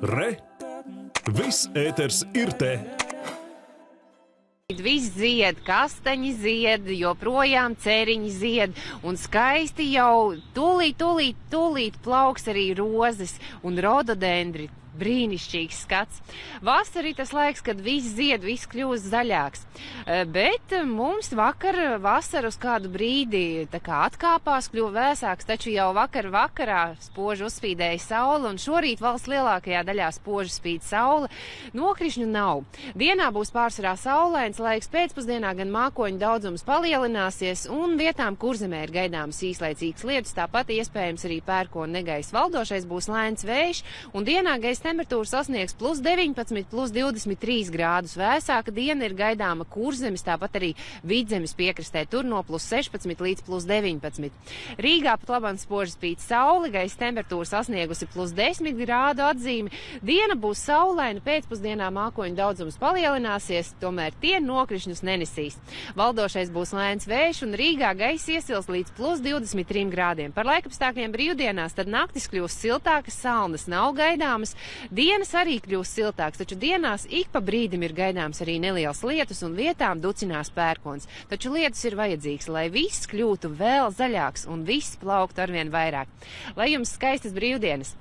Re! Viss ēters ir te! Viss zied, kastaņi zied, joprojām ceriņi zied, un skaisti jau tūlīt plauks arī rozes un rododendri. Brīnišķīgs skats. Vasara ir tas laiks, kad viss zied, viss kļūst zaļāks. Bet mums vasara uz kādu brīdi tā kā atkāpās, kļuva vēsāks, taču jau vakarā spoži uzspīdēja saule, un šorīt valsts lielākajā daļā spoži spīd saule. Nokrišņu nav. Dienā būs pārsvarā saulains laiks, pēcpusdienā gan mākoņu daudzums palielināsies, un vietām Kurzemē ir gaidāmas īslaicīgas lietus, tāpat iespējams arī pērkona negaiss. Valdošais būs lēns vējš, un dienā gaisa temperatūra sasniegs +19, +23 grādus. Vēsāka diena ir gaidāma Kurzemes, tāpat arī Vidzemes piekrastē, tur no +16 līdz +19. Rīgā pat labāk spoži spīd saule, gaisa temperatūra sasniegusi +10 grādu atzīmi. Diena būs saulaina, pēcpusdienā mākoņu daudzums palielināsies, tomēr tie nokrišņus nenesīs. Valdošais būs lēns vējš, un Rīgā gaisa iesils līdz +23 grādiem. Par laikapstākļiem brīvdienās tad naktis kļūs siltākas, salnas nav gaidāmas. Dienas arī kļūs siltāks, taču dienās ik pa brīdim ir gaidāms arī neliels lietus un vietām ducinās pērkons. Taču lietus ir vajadzīgs, lai viss kļūtu vēl zaļāks un viss plauktu arvien vairāk. Lai jums skaistas brīvdienas!